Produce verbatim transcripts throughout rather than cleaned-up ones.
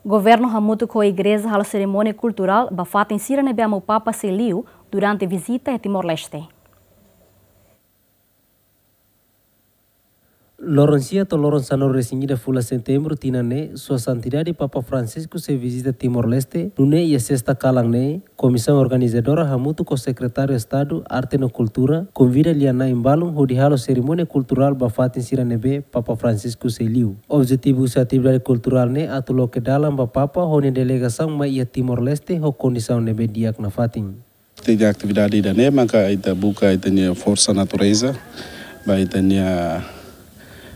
Governu hamutuk ho igreja halo serimónia kulturál ba fatin sira ne'ebé Amu Papa sei liu durante vizita iha Timor-Leste. Loron sia to'o loron sanulu-resin-ida fulan Setembru tinan ne'e, Sua Santidade Papa Francisco sei vizita Timor-Leste, nune'e iha sesta kalan ne'e, komisaun organizadora hamutuk ho Sekretáriu Estadu Arte no Kultura, konvida lia-na'in balun hodi halo serimónia kulturál ba fatin sira ne'ebé Papa Francisco sei liu. Objetivu husi atividade kulturál ne'e atu loke dalan ba Papa ho nia delegasaun mai iha Timor-Leste ho kondisaun ne'ebé di'ak nafatin. Ita-nia atividade ida-ne'e maka ita buka ita-nia forsa natureza, ba ita-nia,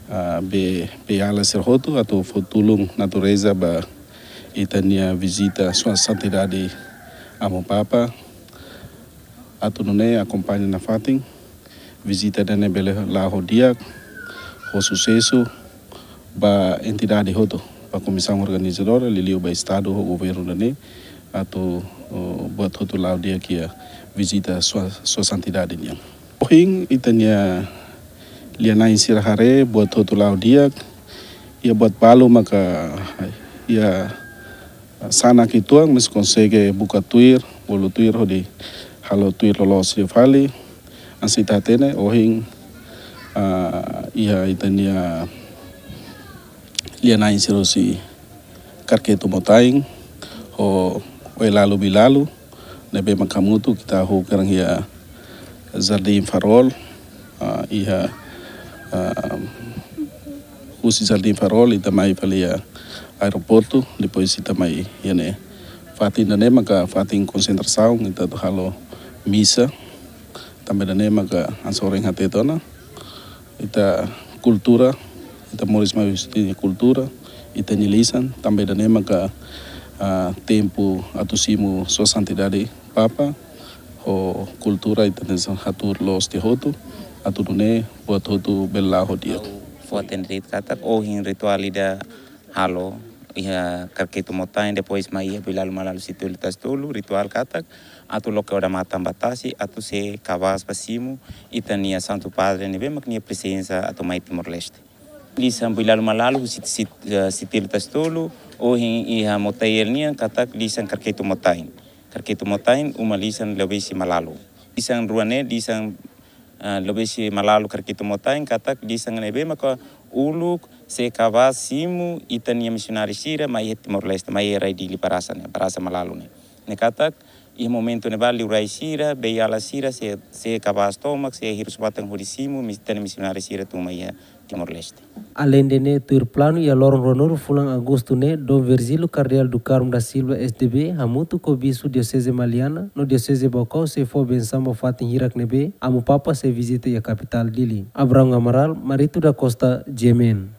ah, be, beiala sira hotu atu fó tulun natureza ba ita-nia vizita Sua Santidade Amu Papa. Atu nune'e akompaña nafatin vizita ida-ne'e bele la'o ho di'ak, ho susesu, ba entidade hotu, ba komisaun organizadora, liuliu ba Estadu ho governu ida-ne'e, atu, oh, buat hotu la'o di'ak iha vizita Sua, Sua Santidade nian. Ohin ita-nia lia-na'in sira haree buat hotu la'o di'ak, iha buat balu maka iha sanak uitoan, mas konsege buka tuir, bolu tuir hodi halo tuir loloos fali. Hanesan ita hatene, ohin, ah, iha ita-nia lia-na'in sira husi Karketu Motain, ho Oelalu Bilalu, ne'ebé maka hamutuk ita hahú kedan iha Jardim Farol, ah, iha, ah, husi Jardim Farol, ita mai fali iha aeroportu, depois ita mai iha ne'e. Fatin ida-ne'e maka fatin konsentrasaun, ita atu halo misa, tanba ida-ne'e maka hanesan ohin hateten ona, ita kultura, ita moris mai husi ita-nia kultura, ita-nia lisan, tanba ida-ne'e maka, ah, tempu atu simu Sua Santidade Papa, ho kultura ita-nia hatuur loos tiha hotu, atu nune'e buat hotu bele la'o ho di'ak. Fó hatene de'it katak ohin rituál ida halo iha Karketu Motain, depois mai iha Bilalu Malalu Sitelu Tasitolu, rituál katak atu loke odamatan ba tasi, atu see kabaas ba simu ita-nia Santu Padre ne'ebé mak nia prezensa atu mai Timor-Leste. Lisan Bilalu Malalu Sit-, Sit-, eh, Sitelu Tasitolu, ohin iha Motael nian katak lisan Karketu Motain. Karketu Motain uma lisan Lobesi Malalu. Lisan rua ne'e lisan, ah, Lobesi Malalu Karketu Motain katak lisan ne'ebé maka uluk see kabaas simu ita-nia misionáriu sira mai iha Timor-Leste, mai iha rai Dili Barasa ne'e, Barasa Malalu ne'e. Ne'e katak iha momentu ne'ebá liurai sira, beiala sira, see, see kabaas tomak, see hirus-batan hodi simu, mis-, ita-nia misionáriu sira tun mai iha Timor-Leste. Aleinde ne'e, tuir planu iha loron ruanulu fulan Agostu ne'e, Dom Virgílio Cardeal do Carmo da Silva, S D B, hamutuk ho Bispu Dioseze Maliana no Dioseze Baucau sei fó bensaun ba fatin hirak ne'ebé Amu Papa sei vizita iha kapitál Dili. Abrão Amaral, Marito da Costa, G M N.